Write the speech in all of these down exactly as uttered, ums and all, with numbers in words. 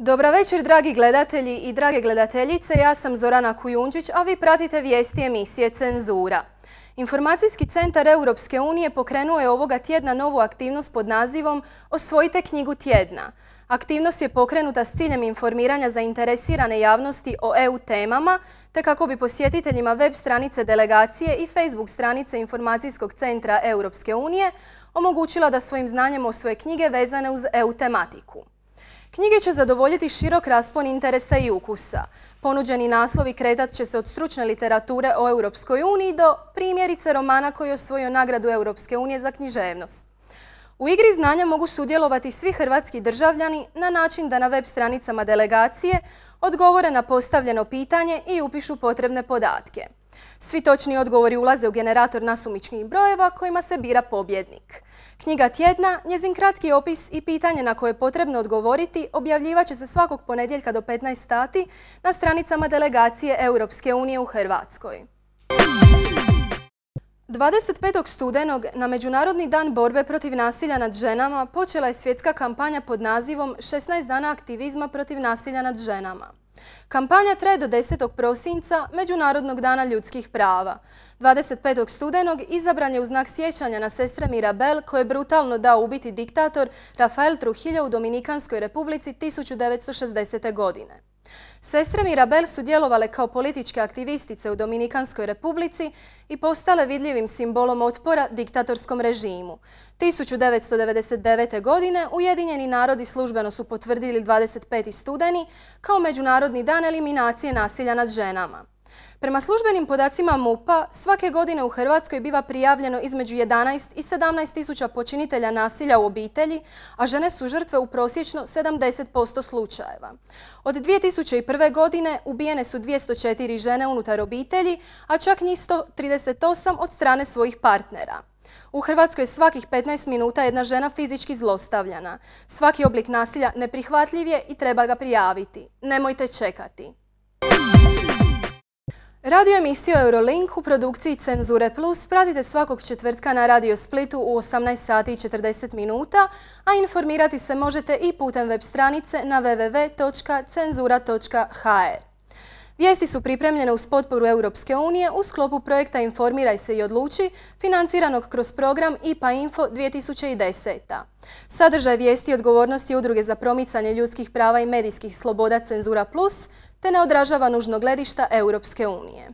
Dobra večer, dragi gledatelji i drage gledateljice. Ja sam Zorana Kujundžić, a vi pratite vijesti emisije Cenzura. Informacijski centar Europske unije pokrenuo je ovoga tjedna novu aktivnost pod nazivom Osvojite knjigu tjedna. Aktivnost je pokrenuta s ciljem informiranja zainteresirane javnosti o E U temama, te kako bi posjetiteljima web stranice delegacije i Facebook stranice Informacijskog centra Europske unije omogućila da svojim znanjem osvoje knjige vezane uz E U tematiku. Knjige će zadovoljiti širok raspon interesa i ukusa. Ponuđeni naslovi kretat će se od stručne literature o Europskoj uniji do primjerice romana koji je osvojio nagradu Europske unije za književnost. U igri znanja mogu sudjelovati svi hrvatski državljani na način da na web stranicama delegacije odgovore na postavljeno pitanje i upišu potrebne podatke. Svi točni odgovori ulaze u generator nasumičnih brojeva kojima se bira pobjednik. Knjiga tjedna, njezin kratki opis i pitanje na koje je potrebno odgovoriti objavljivat će se svakog ponedjeljka do petnaest sati na stranicama delegacije Europske unije u Hrvatskoj. dvadeset petog studenog na Međunarodni dan borbe protiv nasilja nad ženama počela je svjetska kampanja pod nazivom šesnaest dana aktivizma protiv nasilja nad ženama. Kampanja traje do desetog prosinca, Međunarodnog dana ljudskih prava. dvadeset petog studenog izabran je u znak sjećanja na sestre Mirabel koje je brutalno dao ubiti diktator Rafael Trujillo u Dominikanskoj republici tisuću devetsto šezdesete. godine. Sestre Mirabel su djelovale kao političke aktivistice u Dominikanskoj republici i postale vidljivim simbolom otpora diktatorskom režimu. tisuću devetsto devedeset devete. godine Ujedinjeni narodi službeno su potvrdili dvadeset peti studeni kao Međunarodni dan eliminacije nasilja nad ženama. Prema službenim podacima MUP-a, svake godine u Hrvatskoj biva prijavljeno između jedanaest i sedamnaest tisuća počinitelja nasilja u obitelji, a žene su žrtve u prosječno sedamdeset posto slučajeva. Od dvije tisuće prve. godine ubijene su dvjesto četiri žene unutar obitelji, a čak njih sto trideset osam od strane svojih partnera. U Hrvatskoj svakih petnaest minuta jedna žena fizički zlostavljana. Svaki oblik nasilja neprihvatljiv je i treba ga prijaviti. Nemojte čekati. Radio emisiju Eurolink u produkciji Cenzure Plus pratite svakog četvrtka na Radio Splitu u osamnaest sati i četrdeset minuta, a informirati se možete i putem web stranice na w w w točka cenzura točka h r. Vijesti su pripremljene uz potporu Europske unije u sklopu projekta Informiraj se i odluči, financiranog kroz program I P A Info dvije tisuće deset. Sadržaj vijesti i odgovornosti Udruge za promicanje ljudskih prava i medijskih sloboda Cenzura Plus te ne odražava nužno gledišta Europske unije.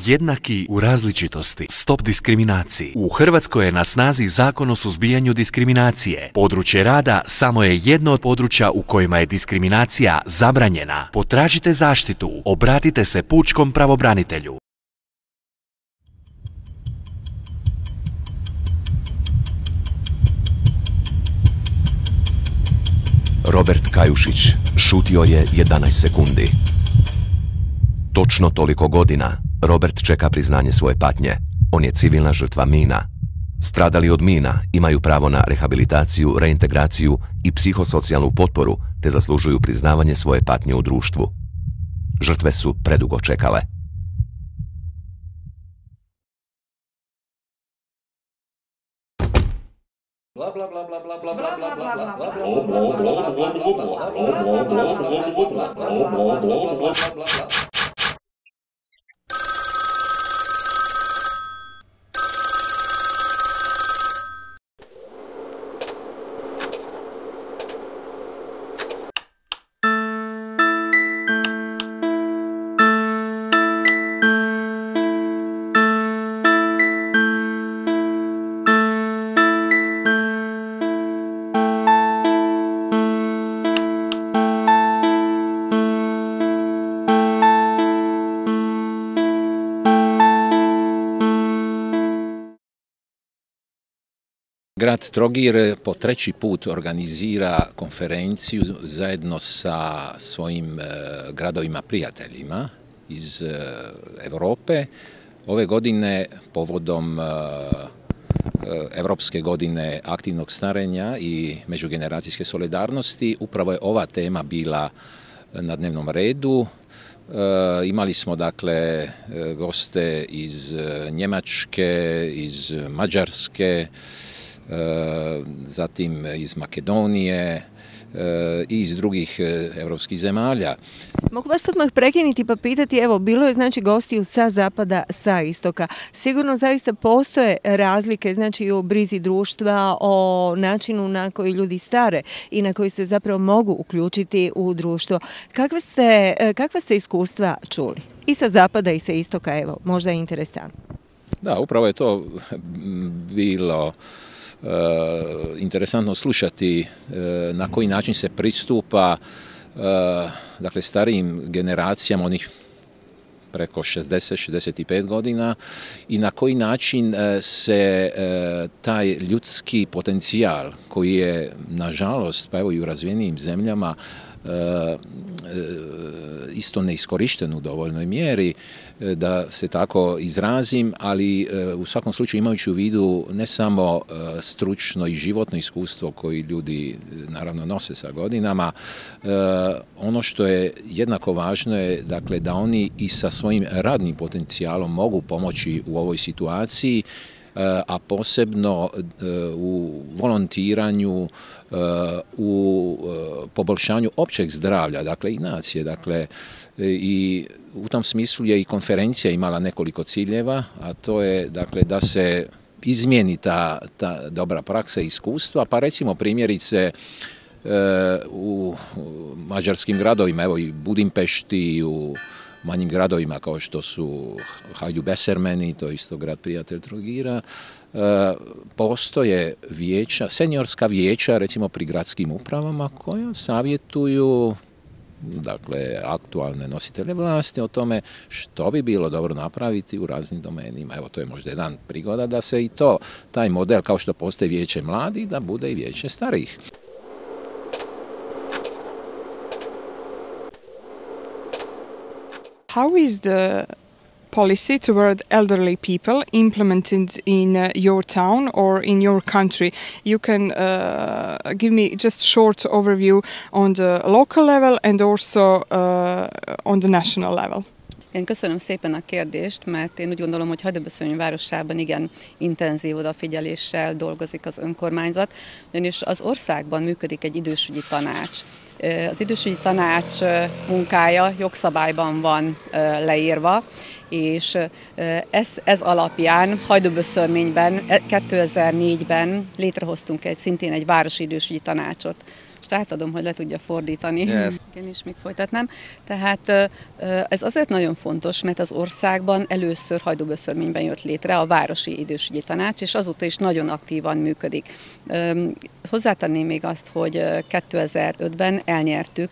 Jednaki u različitosti. Stop diskriminaciji. U Hrvatskoj je na snazi Zakon o suzbijanju diskriminacije. Područje rada samo je jedno od područja u kojima je diskriminacija zabranjena. Potražite zaštitu. Obratite se pučkom pravobranitelju. Robert Kajušić šutio je jedanaest sekundi. Točno toliko godina Robert čeka priznanje svoje patnje. On je civilna žrtva mina. Stradali od mina imaju pravo na rehabilitaciju, reintegraciju i psihosocijalnu potporu te zaslužuju priznavanje svoje patnje u društvu. Žrtve su predugo čekale. Grad Trogir po treći put organizira konferenciju zajedno sa svojim gradovima prijateljima iz Europe. Ove godine povodom Europske godine aktivnog starenja i međugeneracijske solidarnosti upravo je ova tema bila na dnevnom redu. Imali smo dakle goste iz Njemačke, iz Mađarske, zatim iz Makedonije i iz drugih europskih zemalja. Mogu vas odmah prekinuti pa pitati, evo, bilo je znači gostiju sa zapada, sa istoka. Sigurno zaista postoje razlike, znači o brizi društva, o načinu na koji ljudi stare i na koji se zapravo mogu uključiti u društvo. Kakve ste, kakva ste iskustva čuli? I sa zapada i sa istoka, evo, možda je interesantno. Da, upravo je to bilo Uh, interesantno slušati uh, na koji način se pristupa uh, dakle starijim generacijama, onih preko šezdeset šezdeset pet godina, i na koji način uh, se uh, taj ljudski potencijal koji je nažalost pa evo i u razvijenijim zemljama uh, uh, isto neiskorišten u dovoljnoj mjeri, da se tako izrazim, ali u svakom slučaju imajući u vidu ne samo stručno i životno iskustvo koji ljudi naravno nose sa godinama, ono što je jednako važno je dakle da oni i sa svojim radnim potencijalom mogu pomoći u ovoj situaciji, a posebno u volontiranju, u poboljšanju općeg zdravlja, dakle i nacije, dakle i u tom smislu je i konferencija imala nekoliko ciljeva, a to je dakle da se izmijeni ta, ta dobra praksa i iskustva, pa recimo primjerice u mađarskim gradovima, evo i Budimpešti, i u manjim gradovima kao što su Hajdú-Bessermeni, to je isto grad prijatelj Trogira, postoje vijeća, seniorska vijeća recimo pri gradskim upravama koja savjetuju dakle aktualne nositelje vlasti o tome što bi bilo dobro napraviti u raznim domenima. Evo, to je možda jedan prigoda da se i to, taj model kao što postoji vijeće mladih, da bude i vijeće starijih. How is the policy toward elderly people implemented in uh, your town or in your country? You can uh, give me just short overview on the local level and also uh, on the national level. Én köszönöm szépen a kérdést, mert én úgy gondolom, hogy Hajdú-Bessermeny városában igen intenzív odafigyeléssel dolgozik az önkormányzat, ugyanis az országban működik egy idősügyi tanács. Az idősügyi tanács munkája jogszabályban van leírva, és ez, ez alapján Hajdú-Bessermenyben kétezer-négyben létrehoztunk egy, szintén egy városi idősügyi tanácsot. És átadom, hogy le tudja fordítani. Yes. Igen, és még folytatnám. Tehát ez azért nagyon fontos, mert az országban először Hajdú-Bessermenyben jött létre a Városi Idősügyi Tanács, és azóta is nagyon aktívan működik. Hozzátenném még azt, hogy kétezer-ötben elnyertük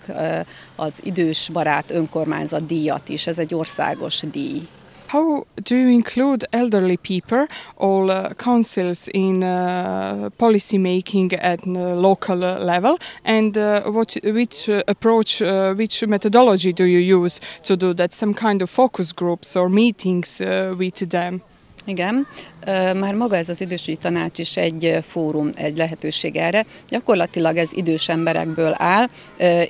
az Idős Barát Önkormányzat díjat is. Ez egy országos díj. How do you include elderly people, all uh, councils in uh, policy making at uh, local level, and uh, what, which uh, approach, uh, which methodology do you use to do that? Some kind of focus groups or meetings uh, with them? Igen, Már maga ez az idősügyi tanács is egy fórum, egy lehetőség erre. Gyakorlatilag ez idős emberekből áll.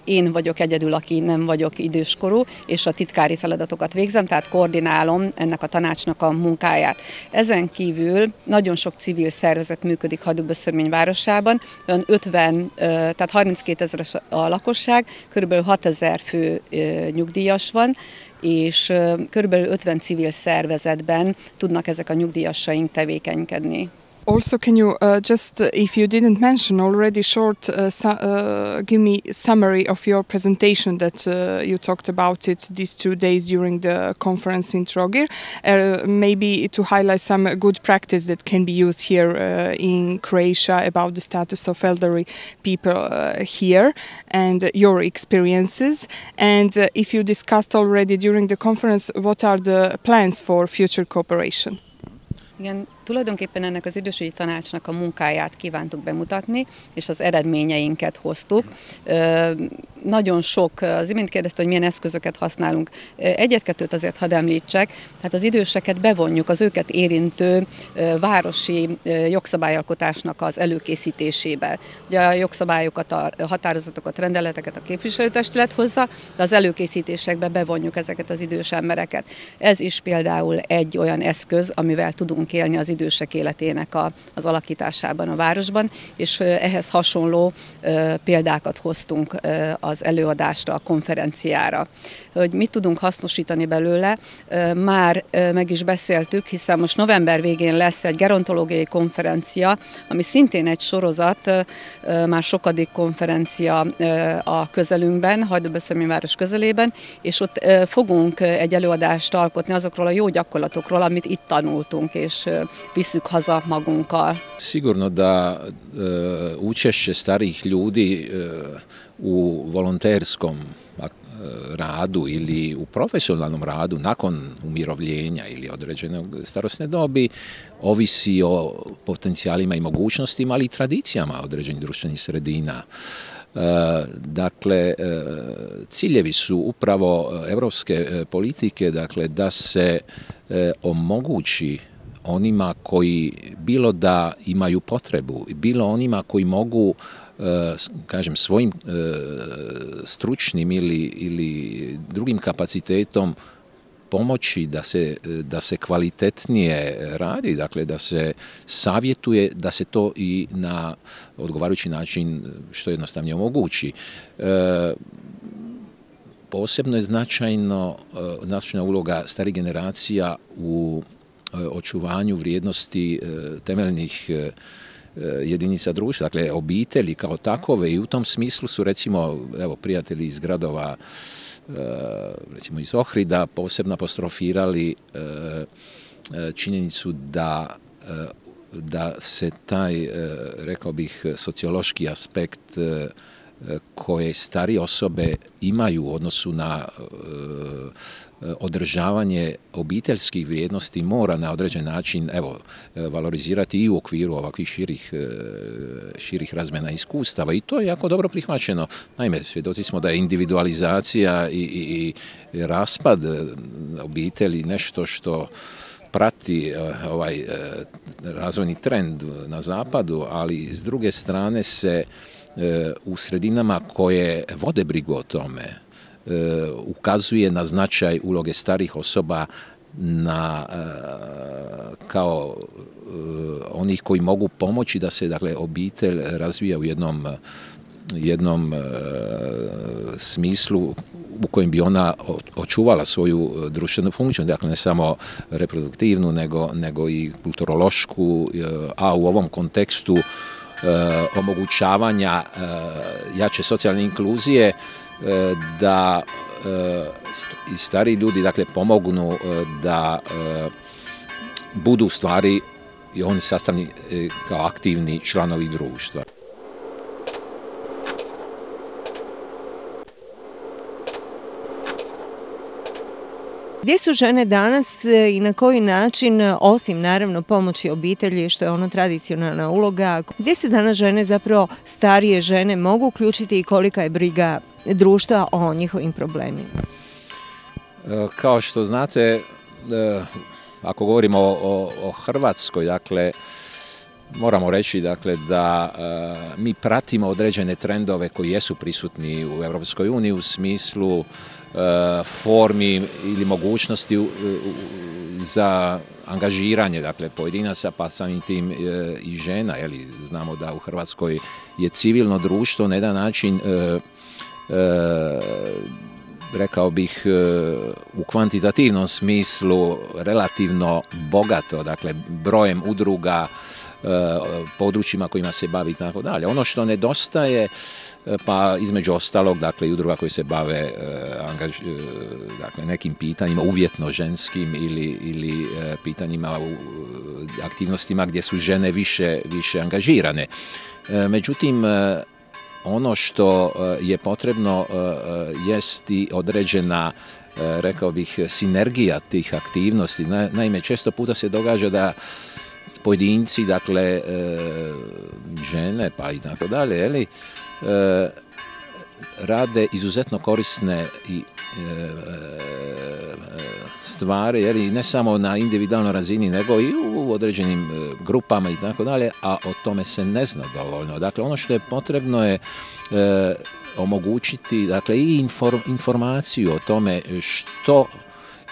Én vagyok egyedül, aki nem vagyok időskorú, és a titkári feladatokat végzem, tehát koordinálom ennek a tanácsnak a munkáját. Ezen kívül nagyon sok civil szervezet működik Hajdú-Böszörmény városában, olyan ötven, tehát harminckét ezeres a lakosság, körülbelül hatezer fő nyugdíjas van, és körülbelül ötven civil szervezetben tudnak ezek a nyugdíjasaink tevékenykedni. Also, can you uh, just, uh, if you didn't mention already, short, uh, su uh, give me a summary of your presentation that uh, you talked about it these two days during the conference in Trogir, uh, maybe to highlight some good practice that can be used here uh, in Croatia about the status of elderly people uh, here and your experiences. And uh, if you discussed already during the conference, what are the plans for future cooperation? Igen, tulajdonképpen ennek az idősügyi tanácsnak a munkáját kívántuk bemutatni, és az eredményeinket hoztuk. Nagyon sok, az imént kérdezte, hogy milyen eszközöket használunk. Egyet-kettőt azért hadd említsek, tehát az időseket bevonjuk az őket érintő városi jogszabályalkotásnak az előkészítésébe. Ugye a jogszabályokat, a határozatokat, rendeleteket a képviselőtestület hozza, de az előkészítésekbe bevonjuk ezeket az idős embereket. Ez is például egy olyan eszköz, amivel tudunk élni az idősek életének a, az alakításában a városban, és ehhez hasonló példákat hoztunk az előadásra, a konferenciára. Hogy mit tudunk hasznosítani belőle, már meg is beszéltük, hiszen most november végén lesz egy gerontológiai konferencia, ami szintén egy sorozat, már sokadik konferencia a közelünkben, Hajdú-Böszörmény város közelében, és ott fogunk egy előadást alkotni azokról a jó gyakorlatokról, amit itt tanultunk, és visszük haza magunkkal. Sigurno da e, učešće starijih ljudi e, u volonterskom radu ili u profesionalnom radu nakon umirovljenja ili određene starosne dobi ovisi o potencijalima i mogućnostima, ali i tradicijama određenih društvenih sredina. Dakle, ciljevi su upravo evropske politike, dakle, da se omogući onima koji bilo da imaju potrebu, bilo onima koji mogu, kažem, svojim stručnim ili, ili drugim kapacitetom pomoći da se, da se kvalitetnije radi, dakle da se savjetuje, da se to i na odgovarajući način što jednostavnije omogući. E, posebno je značajno, značajna uloga starih generacija u očuvanju vrijednosti temeljnih jedinica društva, dakle obitelji kao takove, i u tom smislu su recimo evo prijatelji iz gradova recimo iz Ohrida posebno apostrofirali činjenicu da da se taj, rekao bih, sociološki aspekt koje starije osobe imaju u odnosu na održavanje obiteljskih vrijednosti mora na određen način, evo, valorizirati i u okviru ovakvih širih, širih razmjena iskustava, i to je jako dobro prihvaćeno. Naime, svjedoci smo da je individualizacija i, i, i raspad obitelji nešto što prati ovaj razvojni trend na zapadu, ali s druge strane se u sredinama koje vode brigu o tome ukazuje na značaj uloge starih osoba na, kao onih koji mogu pomoći da se, dakle, obitelj razvija u jednom, jednom smislu u kojem bi ona očuvala svoju društvenu funkciju, dakle ne samo reproduktivnu nego, nego i kulturološku, a u ovom kontekstu omogućavanja jače socijalne inkluzije, da i stari ljudi, dakle, pomognu da budu u stvari i oni sastavni kao aktivni članovi društva. Gdje su žene danas i na koji način, osim naravno pomoći obitelji, što je ono tradicionalna uloga, gdje se danas žene, zapravo starije žene, mogu uključiti i kolika je briga društva o njihovim problemima? Kao što znate, ako govorimo o, o, o Hrvatskoj, dakle, moramo reći dakle, da uh, mi pratimo određene trendove koji jesu prisutni u Europskoj uniji u smislu uh, formi ili mogućnosti uh, uh, za angažiranje dakle, pojedinaca, pa samim tim uh, i žena. Jeli, znamo da u Hrvatskoj je civilno društvo na jedan način uh, uh, rekao bih u kvantitativnom smislu relativno bogato, dakle brojem udruga, područjima kojima se bavi i tako dalje. Ono što nedostaje, pa između ostalog, dakle i udruga koje se bave angaž, dakle, nekim pitanjima uvjetno ženskim ili, ili pitanjima u aktivnostima gdje su žene više, više angažirane. Međutim, ono što je potrebno jest i određena, rekao bih, sinergija tih aktivnosti. Naime, često puta se događa da pojedinci, dakle, žene pa i tako dalje, jeli, rade izuzetno korisne i stvari, jeli, ne samo na individualnoj razini, nego i u određenim grupama i tako dalje, a o tome se ne zna dovoljno. Dakle, ono što je potrebno je e, omogućiti, dakle, i inform, informaciju o tome što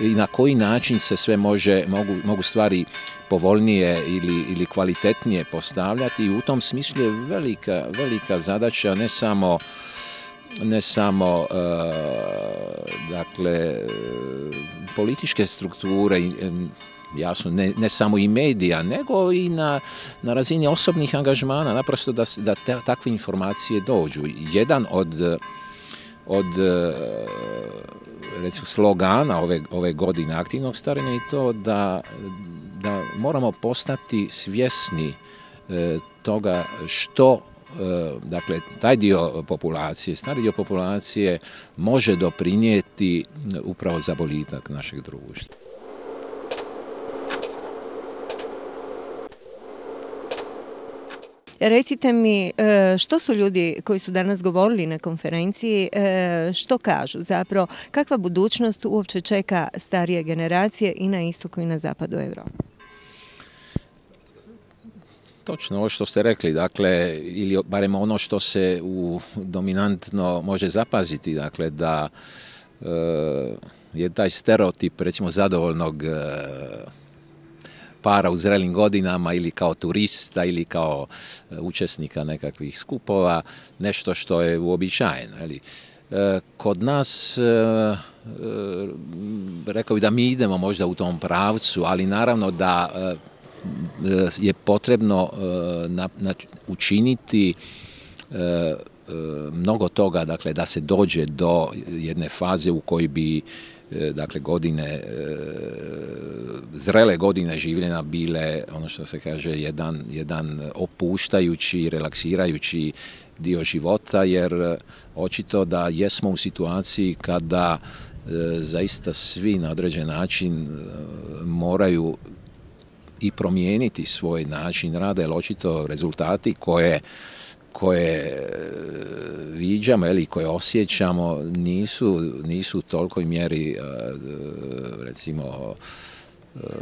i na koji način se sve može, mogu, mogu stvari povoljnije ili, ili kvalitetnije postavljati, i u tom smislu je velika, velika zadaća ne samo ne samo uh, dakle političke strukture, jasno ne, ne samo i medija, nego i na, na razini osobnih angažmana, naprosto da, da te, takve informacije dođu. Jedan od, od recimo slogana ove, ove godine aktivnog starenja je to da, da moramo postati svjesni e, toga što dakle, taj dio populacije, stari dio populacije može doprinijeti upravo za boljitak našeg društva. Recite mi, što su ljudi koji su danas govorili na konferenciji, što kažu zapravo, kakva budućnost uopće čeka starije generacije i na istoku i na zapadu Europe? Točno, ovo što ste rekli, dakle, ili barem ono što se u dominantno može zapaziti, dakle, da e, je taj stereotip, recimo, zadovoljnog e, para u zrelim godinama ili kao turista ili kao e, učesnika nekakvih skupova, nešto što je uobičajeno. E, kod nas, e, e, rekao bih da mi idemo možda u tom pravcu, ali naravno da e, je potrebno na, na, učiniti e, mnogo toga, dakle, da se dođe do jedne faze u kojoj bi e, dakle, godine, e, zrele godine življenja bile, ono što se kaže, jedan, jedan opuštajući, relaksirajući dio života, jer očito da jesmo u situaciji kada e, zaista svi na određen način e, moraju i promijeniti svoj način rada, jer očito rezultati koje, koje viđamo ili koje osjećamo nisu, nisu u tolikoj mjeri recimo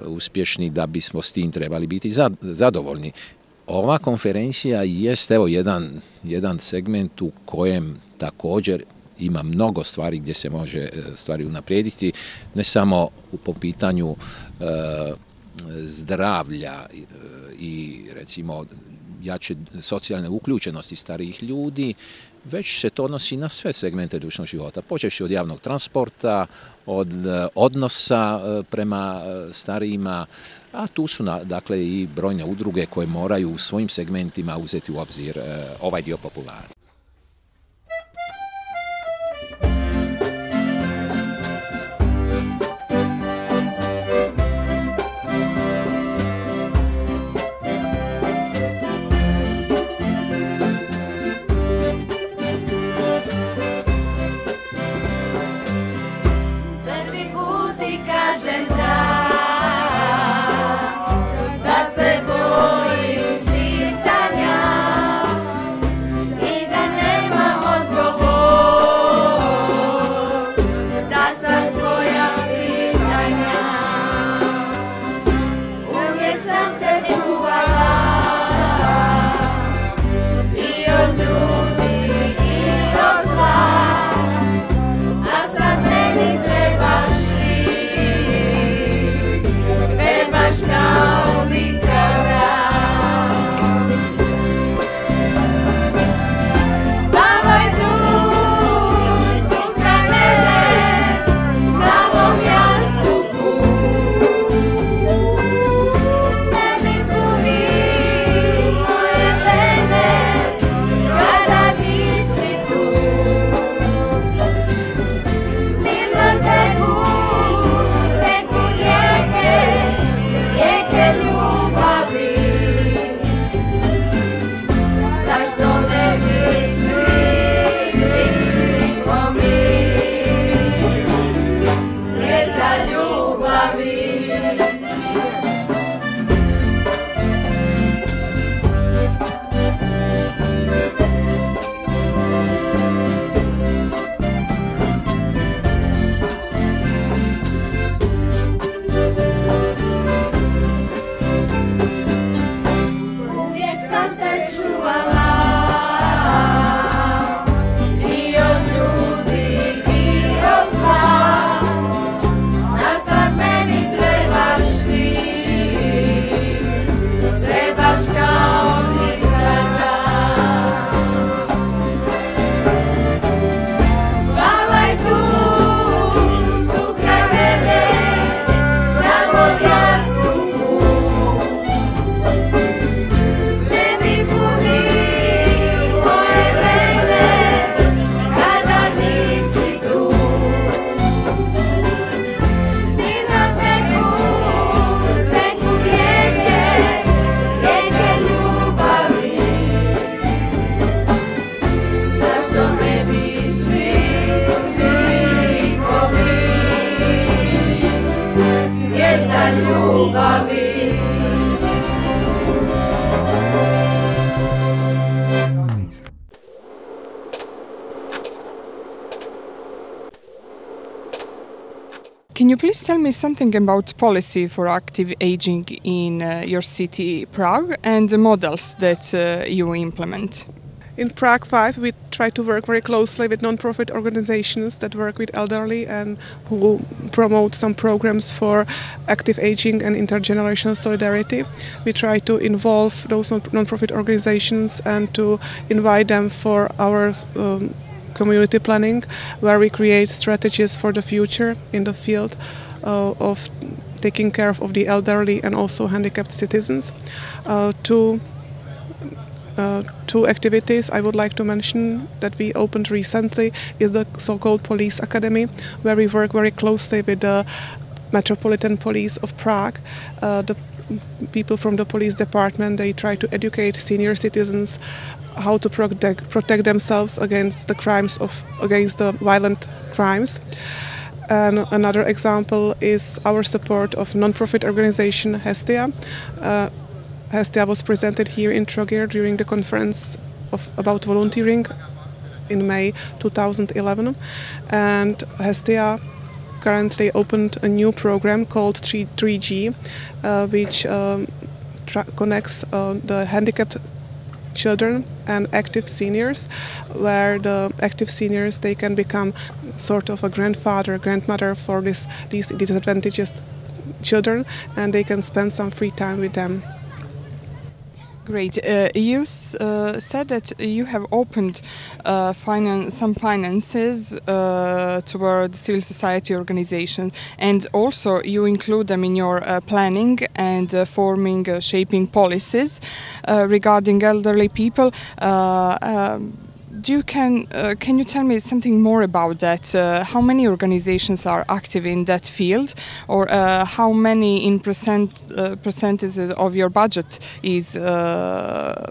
uspješni da bismo s tim trebali biti zadovoljni. Ova konferencija jest evo jedan, jedan segment u kojem također ima mnogo stvari gdje se može stvari unaprijediti, ne samo po pitanju zdravlja i recimo jače socijalne uključenosti starijih ljudi, već se to odnosi na sve segmente društvenog života, počevši od javnog transporta, od odnosa prema starijima, a tu su dakle i brojne udruge koje moraju u svojim segmentima uzeti u obzir ovaj dio populacije. Da se bojim svitanja i can you please tell me something about policy for active aging in uh, your city, Prague, and the models that uh, you implement? In Prague five, we try to work very closely with non-profit organizations that work with elderly and who promote some programs for active aging and intergenerational solidarity. We try to involve those non-profit organizations and to invite them for our um, community planning, where we create strategies for the future in the field uh, of taking care of the elderly and also handicapped citizens. Uh, to Uh, two activities I would like to mention that we opened recently is the so-called Police Academy, where we work very closely with the Metropolitan Police of Prague. Uh, the people from the police department, they try to educate senior citizens how to protect, protect themselves against the crimes of against the violent crimes. And another example is our support of non-profit organization Hestia. Uh, Hestia was presented here in Trogir during the conference of, about volunteering in May two thousand eleven, and Hestia currently opened a new program called three G, uh, which um, connects uh, the handicapped children and active seniors, where the active seniors, they can become sort of a grandfather, grandmother for this, these disadvantaged children, and they can spend some free time with them. Great. Uh, you uh, said that you have opened uh, finan some finances uh, toward civil society organizations, and also you include them in your uh, planning and uh, forming, uh, shaping policies uh, regarding elderly people. Uh, um, Do you can uh, can you tell me something more about that? Uh, how many organizations are active in that field, or uh, how many in percent uh, percentages of your budget is uh,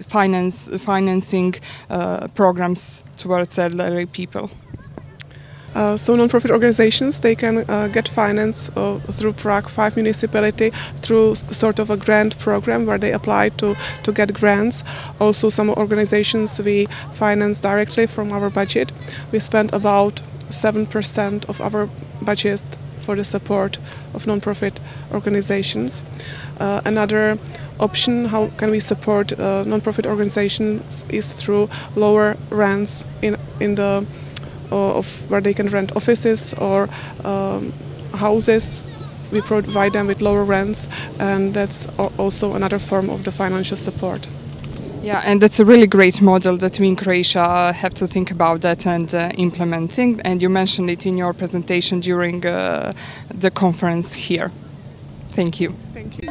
finance financing uh, programs towards elderly people? Uh, so non-profit organizations, they can uh, get finance uh, through Prague five municipality through sort of a grant program where they apply to, to get grants. Also some organizations we finance directly from our budget. We spend about seven percent of our budget for the support of non-profit organizations. Uh, another option how can we support uh, non-profit organizations is through lower rents in, in the of where they can rent offices or um, houses. We provide them with lower rents, and that's also another form of the financial support. Yeah, and that's a really great model that we in Croatia have to think about that and uh, implementing. And you mentioned it in your presentation during uh, the conference here. Thank you. Thank you.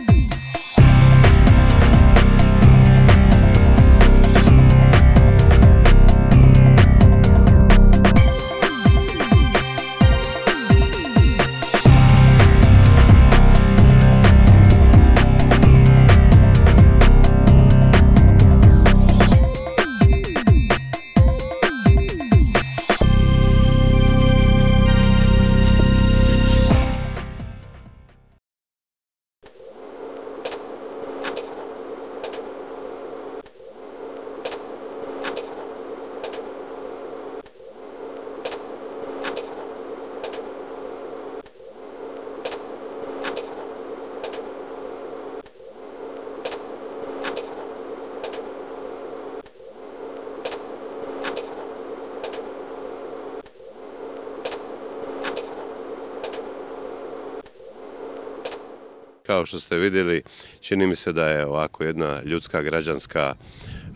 Kao što ste vidjeli, čini mi se da je ovako jedna ljudska građanska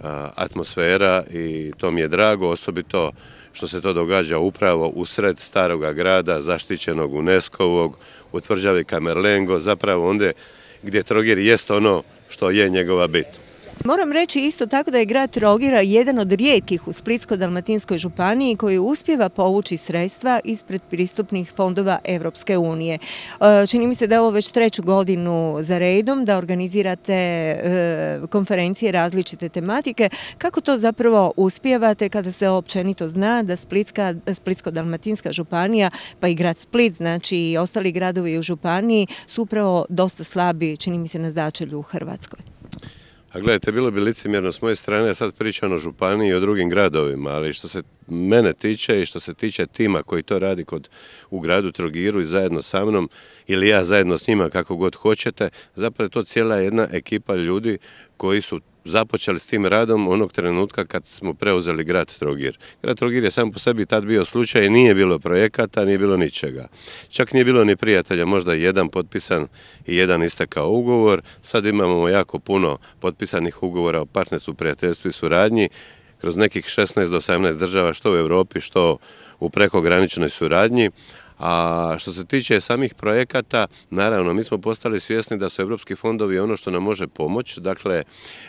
a, atmosfera i to mi je drago, osobito što se to događa upravo usred staroga grada, zaštićenog UNESCO-ovog, u tvrđavi Camerlengo, zapravo onda gdje Trogir jest ono što je njegova bit. Moram reći isto tako da je grad Trogira jedan od rijetkih u Splitsko-dalmatinskoj županiji koji uspijeva povući sredstva iz predpristupnih fondova Europske unije. Čini mi se da je ovo već treću godinu za redom, da organizirate konferencije različite tematike. Kako to zapravo uspijevate kada se općenito zna da Splitsko-dalmatinska županija, pa i grad Split, znači i ostali gradovi u županiji, su upravo dosta slabi, čini mi se, na začelju u Hrvatskoj? A gledajte, bilo bi licemjerno s moje strane, sad pričam o županiji i o drugim gradovima, ali što se mene tiče i što se tiče tima koji to radi kod, u gradu Trogiru i zajedno sa mnom, ili ja zajedno s njima, kako god hoćete, zapravo je to cijela jedna ekipa ljudi koji su započeli s tim radom onog trenutka kad smo preuzeli grad Trogir. Grad Trogir je sam po sebi tad bio slučaj, nije bilo projekata, nije bilo ničega. Čak nije bilo ni prijatelja, možda jedan potpisan i jedan istekao ugovor. Sad imamo jako puno potpisanih ugovora o partnerstvu, prijateljstvu i suradnji kroz nekih šesnaest do osamnaest država, što u Europi, što u prekograničnoj suradnji. A što se tiče samih projekata, naravno, mi smo postali svjesni da su europski fondovi ono što nam može pomoći. Dakle,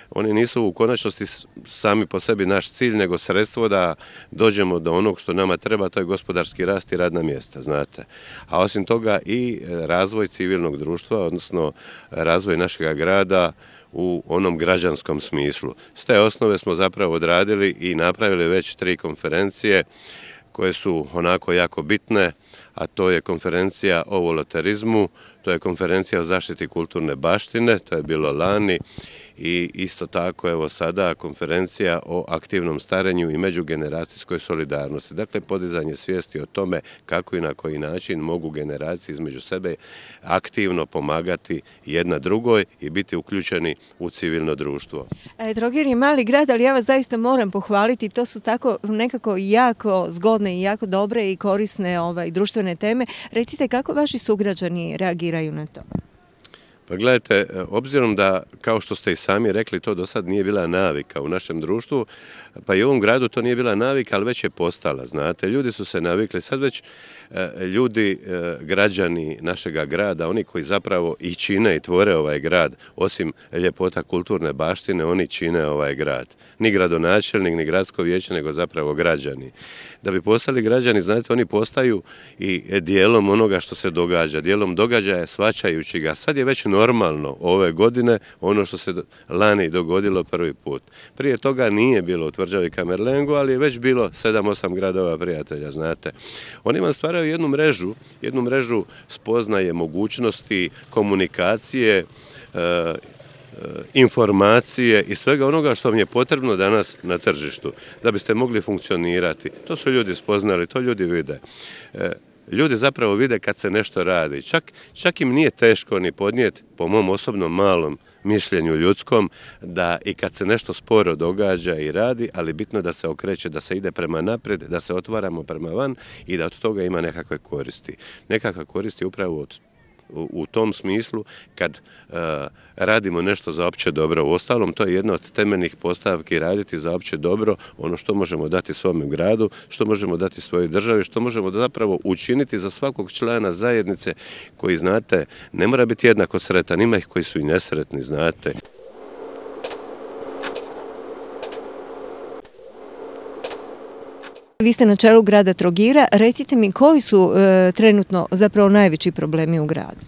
oni nisu u konačnosti sami po sebi naš cilj, nego sredstvo da dođemo do onog što nama treba, to je gospodarski rast i radna mjesta, znate. A osim toga i razvoj civilnog društva, odnosno razvoj našega grada u onom građanskom smislu. S te osnove smo zapravo odradili i napravili već tri konferencije koje su onako jako bitne, a to je konferencija o volonterizmu, to je konferencija o zaštiti kulturne baštine, to je bilo lani, i isto tako evo sada konferencija o aktivnom starenju i međugeneracijskoj solidarnosti. Dakle, podizanje svijesti o tome kako i na koji način mogu generacije između sebe aktivno pomagati jedna drugoj i biti uključeni u civilno društvo. E, Trogir je mali grad, ali ja vas zaista moram pohvaliti, to su tako nekako jako zgodne i jako dobre i korisne ovaj, društvene teme. Recite kako vaši sugrađani reagiraju na to? Pa gledajte, obzirom da, kao što ste i sami rekli, to do sad nije bila navika u našem društvu, pa i u ovom gradu to nije bila navika, ali već je postala, znate. Ljudi su se navikli, sad već ljudi, građani našega grada, oni koji zapravo i čine i tvore ovaj grad, osim ljepota kulturne baštine, oni čine ovaj grad. Ni gradonačelnik, ni gradsko vijeće, nego zapravo građani. Da bi postali građani, znate, oni postaju i dijelom onoga što se događa, dijelom događaja shvaćajući ga. Sad je već normalno ove godine ono što se lani dogodilo prvi put. Prije toga nije bilo u Tvrđavi Kamerlengu, ali je već bilo sedam osam gradova prijatelja, znate. Oni vam stvaraju jednu mrežu, jednu mrežu spoznaje, mogućnosti, komunikacije, e, informacije i svega onoga što vam je potrebno danas na tržištu da biste mogli funkcionirati. To su ljudi spoznali, to ljudi vide. Ljudi zapravo vide kad se nešto radi. Čak, čak im nije teško ni podnijeti, po mom osobnom malom mišljenju ljudskom, da i kad se nešto sporo događa i radi, ali bitno da se okreće, da se ide prema naprijed, da se otvaramo prema van i da od toga ima nekakve koristi. Nekakva koristi upravo od u tom smislu kad uh, radimo nešto za opće dobro. Uostalom, to je jedna od temeljnih postavki, raditi za opće dobro, ono što možemo dati svome gradu, što možemo dati svojoj državi, što možemo zapravo učiniti za svakog člana zajednice koji, znate, ne mora biti jednako sretan, ima ih koji su i nesretni, znate. Vi ste na čelu grada Trogira, recite mi koji su e, trenutno zapravo najveći problemi u gradu?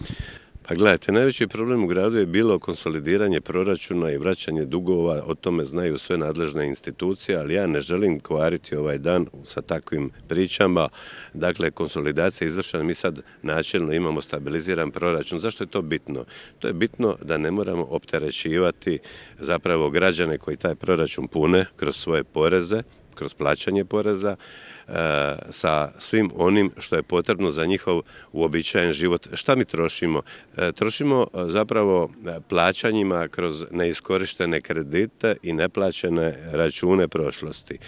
Pa gledajte, najveći problem u gradu je bilo konsolidiranje proračuna i vraćanje dugova, o tome znaju sve nadležne institucije, ali ja ne želim kvariti ovaj dan sa takvim pričama. Dakle, konsolidacija je izvršena, mi sad načelno imamo stabiliziran proračun. Zašto je to bitno? To je bitno da ne moramo opterećivati zapravo građane koji taj proračun pune kroz svoje poreze, kroz plaćanje poreza, e, sa svim onim što je potrebno za njihov uobičajen život. Šta mi trošimo? E, trošimo zapravo plaćanjima kroz neiskorištene kredite i neplaćene račune prošlosti.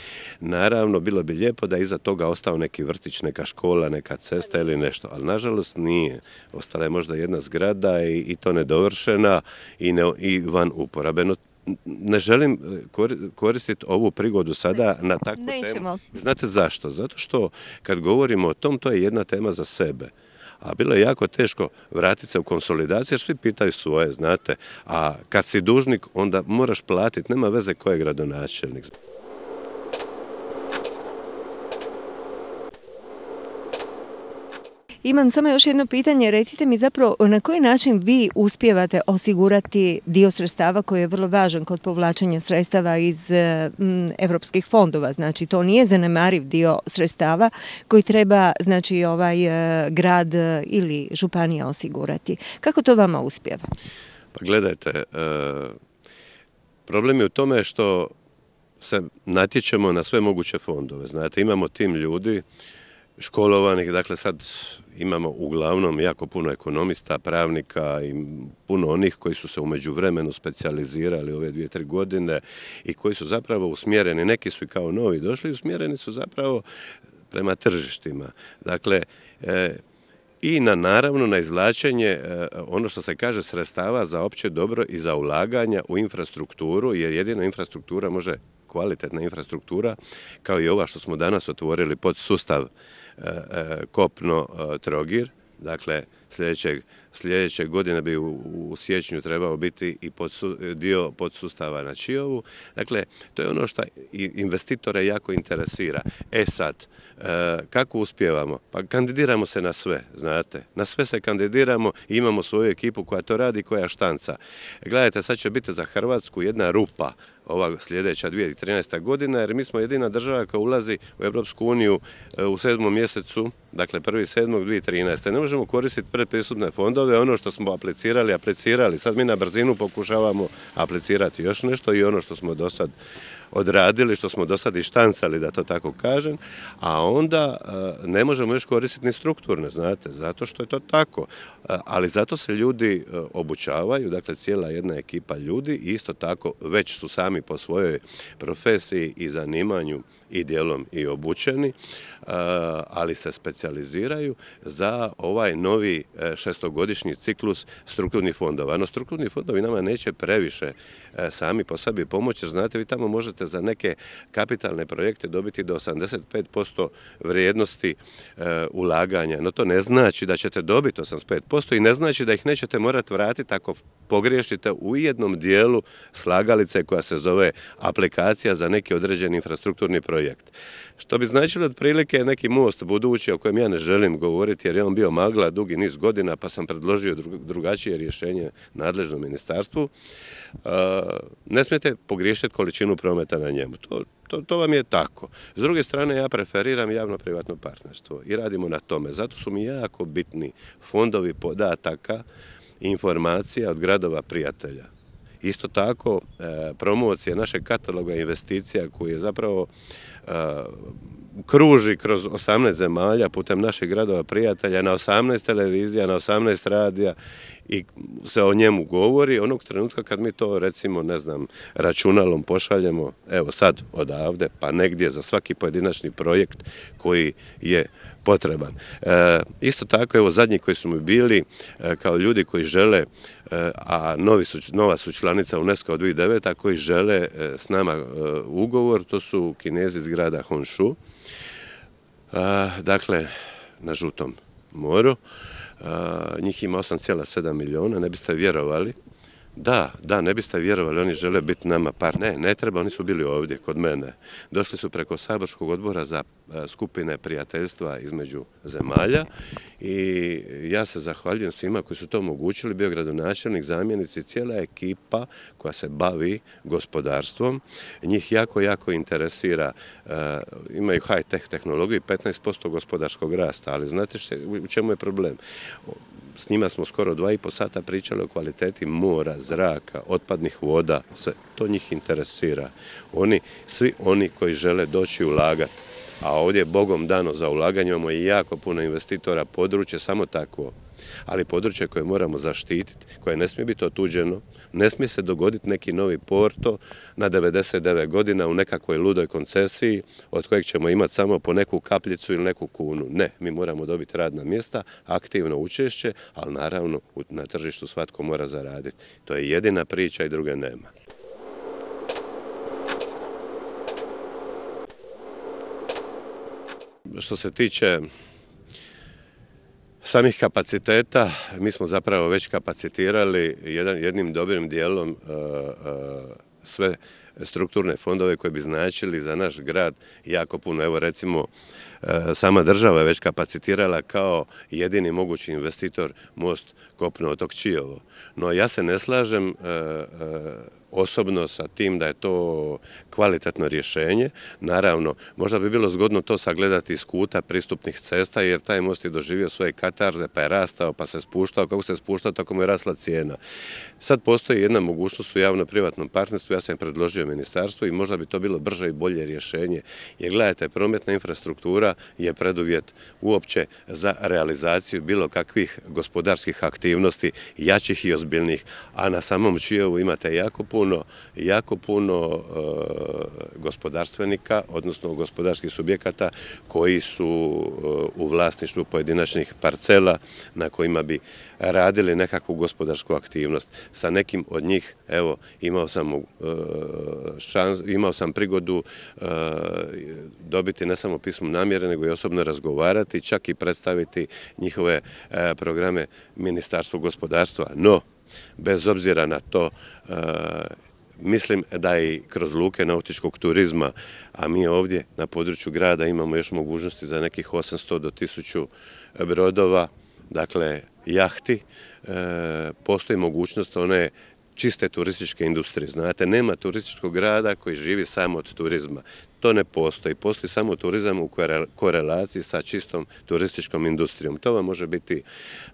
Naravno, bilo bi lijepo da iza toga ostao neki vrtić, neka škola, neka cesta ili nešto, ali nažalost nije. Ostala je možda jedna zgrada i, i to nedovršena i, ne, i van uporabe. Ne želim koristiti ovu prigodu sada Nećemo. na takvu Nećemo. temu. Znate zašto? Zato što kad govorimo o tom, to je jedna tema za sebe. A bilo je jako teško vratiti se u konsolidaciju jer svi pitaju svoje, znate. A kad si dužnik, onda moraš platiti. Nema veze ko je gradonačelnik. Imam samo još jedno pitanje, recite mi zapravo na koji način vi uspijevate osigurati dio sredstava koji je vrlo važan kod povlačenja sredstava iz m, evropskih fondova, znači to nije zanemariv dio sredstava koji treba znači ovaj grad ili županija osigurati. Kako to vama uspijeva? Pa gledajte, problem je u tome što se natječemo na sve moguće fondove. Znate, imamo tim ljudi školovanih, dakle sad imamo uglavnom jako puno ekonomista, pravnika i puno onih koji su se u međuvremenu specijalizirali ove dvije, tri godine i koji su zapravo usmjereni, neki su i kao novi došli, usmjereni su zapravo prema tržištima. Dakle, e, i na naravno na izvlačenje e, ono što se kaže sredstava za opće dobro i za ulaganja u infrastrukturu, jer jedina infrastruktura može, kvalitetna infrastruktura, kao i ova što smo danas otvorili pod sustav e, e, kopno e, Trogir, dakle sljedećeg, sljedeće godine bi u, u siječnju trebao biti i pod, dio podsustava na Čiovu. Dakle, to je ono što investitore jako interesira. E sad, e, kako uspijevamo? Pa kandidiramo se na sve, znate. Na sve se kandidiramo i imamo svoju ekipu koja to radi, koja štanca. Gledajte, sad će biti za Hrvatsku jedna rupa ova sljedeća dvije tisuće trinaesta godina, jer mi smo jedina država koja ulazi u Europsku uniju u sedmom mjesecu, dakle prvi sedmog dvije tisuće trinaeste. Ne možemo koristiti predpristupne fondove, ono što smo aplicirali, aplicirali. Sad mi na brzinu pokušavamo aplicirati još nešto i ono što smo do sad odradili, što smo do sad i štancali, da to tako kažem, a onda ne možemo još koristiti ni strukturne, znate, zato što je to tako. Ali zato se ljudi obučavaju, dakle cijela jedna ekipa ljudi i isto tako već su sami po svojoj profesiji i zanimanju i dijelom i obučeni, ali se specijaliziraju za ovaj novi šestogodišnji ciklus strukturnih fondova. No, strukturni fondovi nama neće previše sami po sebi pomoći, jer znate, vi tamo možete za neke kapitalne projekte dobiti do osamdeset pet posto vrijednosti ulaganja. No, to ne znači da ćete dobiti osamdeset pet posto i ne znači da ih nećete morati vratiti ako pogriješite u jednom dijelu slagalice koja se zove aplikacija za neki određeni infrastrukturni projekt. Što bi značilo otprilike neki most budući o kojem ja ne želim govoriti jer je on bio magla dugi niz godina pa sam predložio drugačije rješenje nadležnom ministarstvu. Ne smijete pogriješiti količinu prometa na njemu. To, to, to vam je tako. S druge strane ja preferiram javno-privatno partnerstvo i radimo na tome. Zato su mi jako bitni fondovi podataka i informacija od gradova prijatelja. Isto tako promocija našeg kataloga investicija koji je zapravo kruži kroz osamnaest zemalja putem naših gradova prijatelja na osamnaest televizija, na osamnaest radija i se o njemu govori onog trenutka kad mi to recimo ne znam računalom pošaljemo evo sad odavde pa negdje za svaki pojedinačni projekt koji je potreban. E, isto tako, evo zadnji koji su mi bili e, kao ljudi koji žele, e, a novi su, nova su članica UNESCO od dvije tisuće devete. koji žele e, s nama e, ugovor, to su Kinezi iz grada Honshu, e, dakle na Žutom moru. E, njih ima osam zarez sedam milijuna, ne biste vjerovali. Da, da, ne biste vjerovali, oni žele biti nama par. Ne, ne treba, oni su bili ovdje kod mene. Došli su preko saborskog odbora za skupine prijateljstva između zemalja i ja se zahvaljujem svima koji su to omogućili, bio gradonačelnik, zamjenici, cijela ekipa koja se bavi gospodarstvom. Njih jako, jako interesira, uh, imaju high-tech tehnologiju i petnaest posto gospodarskog rasta, ali znate što, u čemu je problem? S njima smo skoro dva i po sata pričali o kvaliteti mora, zraka, otpadnih voda, sve. To njih interesira. Oni, svi oni koji žele doći ulagati, a ovdje je Bogom dano za ulaganje, imamo i jako puno investitora, područje samo takvo, ali područje koje moramo zaštititi, koje ne smije biti otuđeno, ne smije se dogoditi neki novi Porto na devedeset devet godina u nekakvoj ludoj koncesiji od kojeg ćemo imati samo po neku kapljicu ili neku kunu. Ne, mi moramo dobiti radna mjesta, aktivno učešće, ali naravno na tržištu svatko mora zaraditi. To je jedina priča i druge nema. Što se tiče samih kapaciteta, mi smo zapravo već kapacitirali jedan, jednim dobrim dijelom uh, uh, sve strukturne fondove koji bi značili za naš grad jako puno. Evo recimo sama država je već kapacitirala kao jedini mogući investitor most kopno otok Čiovo. No ja se ne slažem osobno sa tim da je to kvalitetno rješenje. Naravno, možda bi bilo zgodno to sagledati iz kuta pristupnih cesta, jer taj most je doživio svoje katarze, pa je rastao, pa se spuštao. Kako se spuštao, tako mu je rasla cijena. Sad postoji jedna mogućnost u javno-privatnom partnerstvu, ja sam je predložio ministarstvu i možda bi to bilo brže i bolje rješenje. Jer gledajte, prometna infrastruktura je preduvjet uopće za realizaciju bilo kakvih gospodarskih aktivnosti, jačih i ozbiljnih, a na samom Čiovu imate jako puno Puno, jako puno e, gospodarstvenika, odnosno gospodarskih subjekata koji su e, u vlasništvu pojedinačnih parcela na kojima bi radili nekakvu gospodarsku aktivnost. Sa nekim od njih, evo, imao sam, e, šans, imao sam prigodu e, dobiti ne samo pismo namjere, nego i osobno razgovarati, čak i predstaviti njihove e, programe Ministarstvu gospodarstva. No, bez obzira na to, e, mislim da i kroz luke nautičkog turizma, a mi ovdje na području grada imamo još mogućnosti za nekih osamsto do tisuću brodova, dakle jahti, e, postoji mogućnost one čiste turističke industrije. Znate, nema turističkog grada koji živi samo od turizma. To ne postoji. Postoji samo turizam u korelaciji sa čistom turističkom industrijom. To vam može biti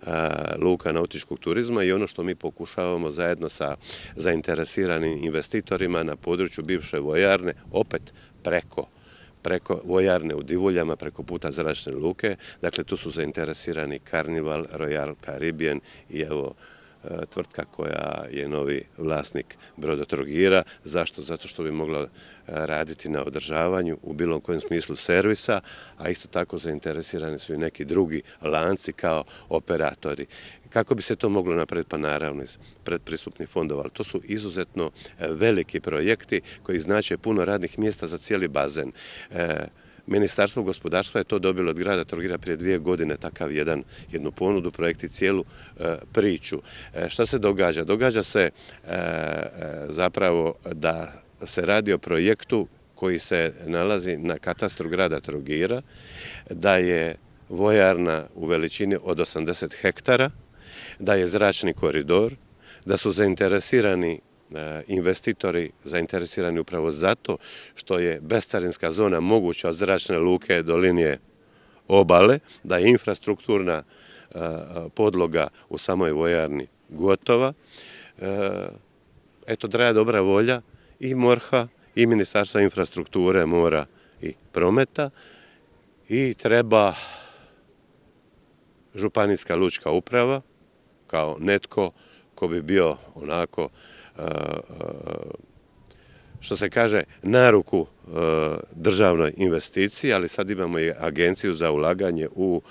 a, luka nautičkog turizma i ono što mi pokušavamo zajedno sa zainteresiranim investitorima na području bivše vojarne, opet preko preko vojarne u Divuljama, preko puta zračne luke. Dakle, tu su zainteresirani Carnival, Royal Caribbean i evo tvrtka koja je novi vlasnik Brodotrogira. Zašto? Zato što bi mogla raditi na održavanju u bilo kojem smislu servisa, a isto tako zainteresirani su i neki drugi lanci kao operatori. Kako bi se to moglo napraviti? Pa naravno iz predpristupnih fondova, ali to su izuzetno veliki projekti koji znače puno radnih mjesta za cijeli bazen. Ministarstvo gospodarstva je to dobilo od grada Trogira prije dvije godine, takav jedan, jednu ponudu, projekt i cijelu e, priču. E, šta se događa? Događa se e, zapravo da se radi o projektu koji se nalazi na katastru grada Trogira, da je vojarna u veličini od osamdeset hektara, da je zračni koridor, da su zainteresirani investitori zainteresirani upravo zato što je bescarinska zona moguća od zračne luke do linije obale, da je infrastrukturna podloga u samoj vojarni gotova. Eto, traje dobra volja i MORH-a i Ministarstva infrastrukture, mora i prometa i treba županijska lučka uprava kao netko ko bi bio onako što se kaže na ruku državnoj investiciji, ali sad imamo i agenciju za ulaganje u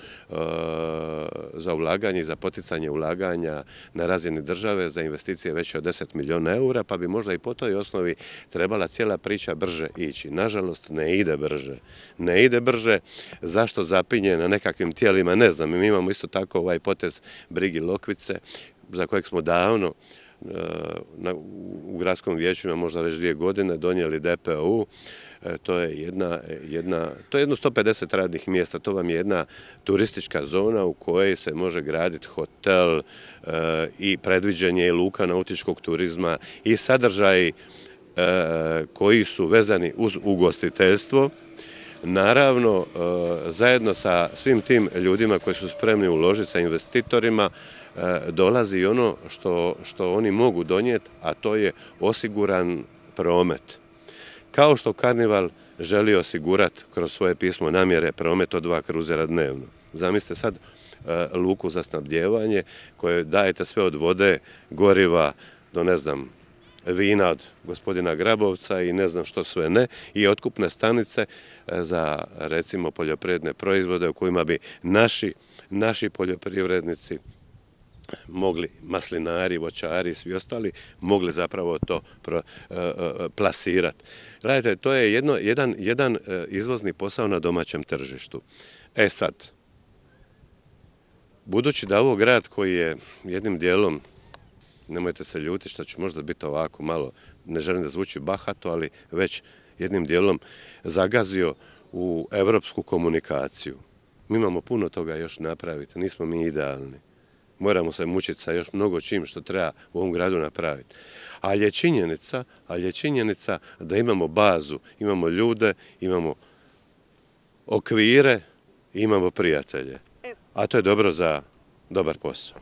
za ulaganje i za poticanje ulaganja na razini države za investicije veće od deset milijuna eura, pa bi možda i po toj osnovi trebala cijela priča brže ići. Nažalost, ne ide brže. Ne ide brže. Zašto zapinje na nekakvim tijelima? Ne znam. Mi imamo isto tako ovaj potez Brigi Lokvice, za kojeg smo davno u gradskom vijeću ima možda već dvije godine donijeli D P U. To je jedna, jedna, to je jedno sto pedeset radnih mjesta, to vam je jedna turistička zona u kojoj se može graditi hotel e, i predviđenje i luka nautičkog turizma i sadržaji e, koji su vezani uz ugostiteljstvo. Naravno, e, zajedno sa svim tim ljudima koji su spremni uložiti, sa investitorima, dolazi i ono što, što oni mogu donijeti, a to je osiguran promet. Kao što Carnival želi osigurati kroz svoje pismo namjere promet od dva kruzera dnevno. Zamislite sad e, luku za snabdijevanje koje dajete sve od vode, goriva do ne znam vina od gospodina Grabovca i ne znam što sve ne i otkupne stanice za recimo poljoprivredne proizvode u kojima bi naši, naši poljoprivrednici mogli, maslinari, voćari i svi ostali, mogli zapravo to pro, e, e, plasirati. Gledajte, to je jedno, jedan, jedan izvozni posao na domaćem tržištu. E sad, budući da ovo grad koji je jednim dijelom, nemojte se ljutiti što ću možda biti ovako malo, ne želim da zvuči bahato, ali već jednim dijelom zagazio u evropsku komunikaciju. Mi imamo puno toga još napraviti, nismo mi idealni. Moramo se mučiti sa još mnogo čim što treba u ovom gradu napraviti. Ali je činjenica, ali je činjenica da imamo bazu, imamo ljude, imamo okvire, imamo prijatelje. A to je dobro za dobar posao.